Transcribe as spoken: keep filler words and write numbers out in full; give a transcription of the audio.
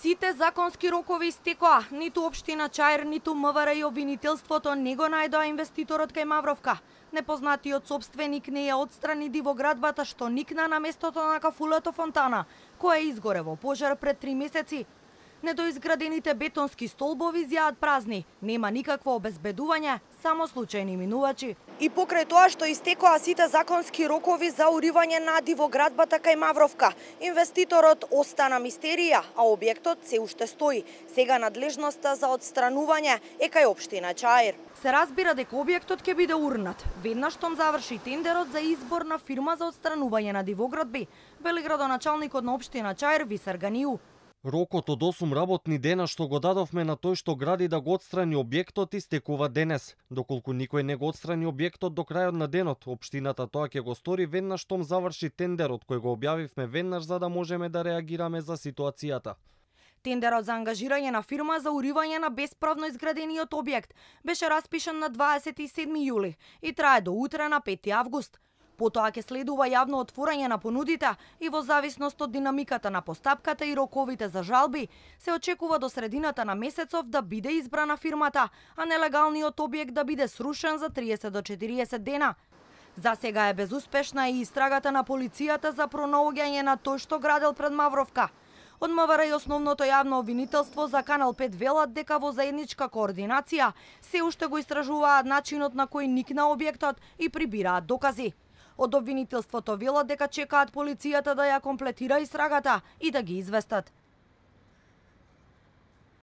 Сите законски рокови истекоа, ниту општина Чаир, ниту МВР и обвинителството не го најдоа инвеститорот кај Мавровка. Непознатиот собственик не ја отстрани дивоградбата што никна на местото на кафулето фонтана, која изгоре во пожар пред три месеци. Недоизградените бетонски столбови зјаат празни, нема никакво обезбедување, само случајни минувачи. И покрај тоа што истекоа сите законски рокови за уривање на дивоградбата кај Мавровка, инвеститорот остана мистерија, а објектот се уште стои. Сега надлежноста за отстранување е кај општина Чаир. Се разбира дека објектот ќе биде урнат, веднаш штом заврши тендерот за избор на фирма за отстранување на дивоградби, вели градоначалникот на општина Чаир Висар Ганију. Рокот од осум работни дена што го дадовме на тој што гради да го отстрани објектот истекува денес. Доколку никој не го отстрани објектот до крајот на денот, општината тоа ќе го стори веднаш штом заврши тендерот кој го објавивме веднаш за да можеме да реагираме за ситуацијата. Тендерот за ангажирање на фирма за уривање на бесправно изградениот објект беше распишан на дваесет и седми јули и трае до утре на пети август. Потоа ќе следува јавно отворање на понудите и во зависност од динамиката на постапката и роковите за жалби, се очекува до средината на месецов да биде избрана фирмата, а нелегалниот објект да биде срушен за триесет до четириесет дена. За сега е безуспешна и истрагата на полицијата за пронаоѓање на тој што градел пред Мавровка. Од МВР и основното јавно обвинителство за Канал пет велат дека во заедничка координација се уште го истражуваат начинот на кој никна објектот и прибираат докази. Од обвинителството велат дека чекаат полицијата да ја комплетира истрагата и да ги известат.